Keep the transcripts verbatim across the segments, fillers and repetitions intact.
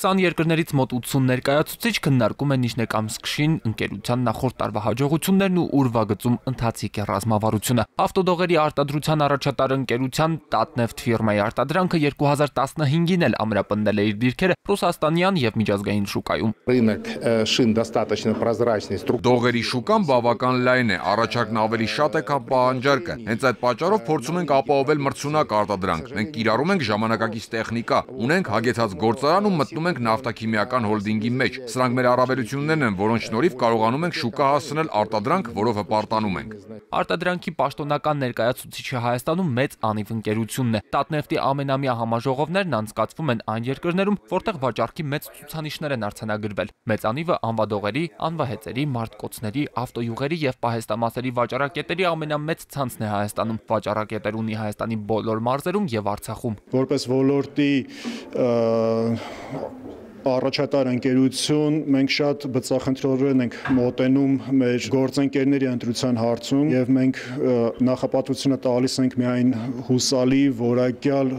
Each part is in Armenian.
քսան երկրներից մոտ ութսուն ներկայացուցիչ քննարկում են Նիժնեկամսկշին ընկերության նախորդ տարվա հաջողություններն ու ուրվագծում ընթացիկ է ռազմավարությունը։ Ավտոդողերի արտադրության առաջատար ընկերության Տատնեֆտ ֆիրմայի արտադրանքը երկու հազար տասնհինգին էլ ամրապնդել է իր դիրքերը ռուսաստանյան եւ միջազգային շուկայում։ Դողերի շուկան բավական լայն է, առաջարկն ավելի շատ է, քան պահանջարկը։ Հենց այդ պատճառով փորձում ենք ապահովել մրցունակ արտադրանք։ Մենք կիրառում ենք ժամանակակից տեխնիկա, ունենք հագեցած գործարան ու մտնում ենք նավթաքիմիական հոլդինգի մեջ։ Սրանք մեր առավելություններն են, որոնց շնորհիվ կարողանում ենք շուկա հասցնել արտադրանք, որով հպարտանում ենք։ Արտադրանքի պաշտոնական ներկայացուցիչը Հայաստանում մեծ անիվ ընկերությունն է։ Տատնեֆտի ամենամյա համաժողովներն անցկացվում են այն երկրներում, որտեղ վաճառքի մեծ ցուցանիշներ են արձանագրվել։ Մեծ անիվը անվադողերի, անվահեծերի, մարտկոցների, ավտոյուղերի եւ պահեստամասերի վաճառակետերի ամենամեծ ցանցն է Հայաստանում։ Վաճառակետեր ունի Հայաստանի բոլոր մարզերում եւ Արցախում։ Որպես ոլորտի առաջատար ընկերություն մենք շատ բծախնդրորեն ենք մոտենում մեր գործընկերների ընտրության հարցում եւ մենք նախապատվությունը տալիս ենք միայն հուսալի որակյալ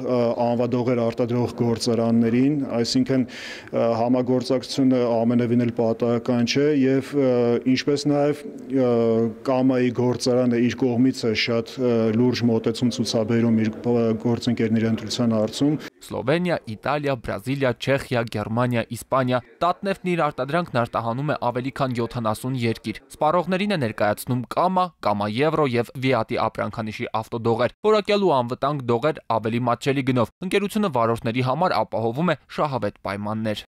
անվադողեր արտադրող գործարաններին, այսինքն համագործակցությունը ամենևին էլ պատահական չէ եւ ինչպես նաեւ Կամայի գործարանը իր կողմից է շատ լուրջ մոտեցում ցուցաբերում իր գործընկերների ընտրության հարցում։ Սլովենիա, Իտալիա, Բրազիլիա, Չեխիա, Գերմանիա, Իսպանիա, Տատնեֆտն իր արտադրանքն արտահանում է ավելի քան յոթանասուն երկիր։ Սպառողներին է ներկայացնում Կամա, Կամա Եվրո եւ Վիատի ապրանքանիշի ավտոդողեր։ Որակյալ ու անվտանգ դողեր ավելի մատչելի գնով։ Ընկերությունը վարորդների համար ապահովում է շահավետ պայմաններ։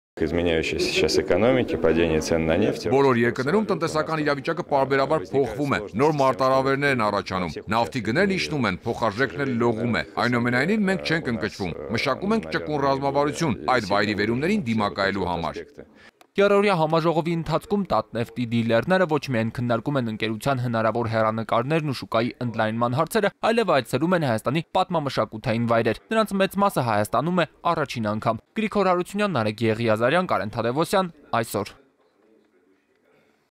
Բոլոր երկրներում տնտեսական իրավիճակը պարբերաբար փոխվում է, նոր մարտահրավերներ են առաջանում, նավթի գներն իջնում են, փոխարժեքն էլ լողում է։ Այնուամենայնիվ մենք չենք ընկճվում, մշակում ենք ճկուն ռազմավարություն այդ վայրի վերումներին դիմակայելու համար։ Երրորդյա համաժողովի ընթացքում Տատնեֆտի դիլերները ոչ միայն քննարկում են ընկերության հնարավոր հեռանկարներն ու շուկայի ընդլայնման հարցերը, այլև այցելում են Հայաստանի պատմամշակութային վայրեր։ Նրանց մեծ մասը Հայաստանում է առաջին անգամ։ Գրիգոր Հարությունյան, Նարեկ Եղիազարյան, Կարեն Թադևոսյան, այսօր։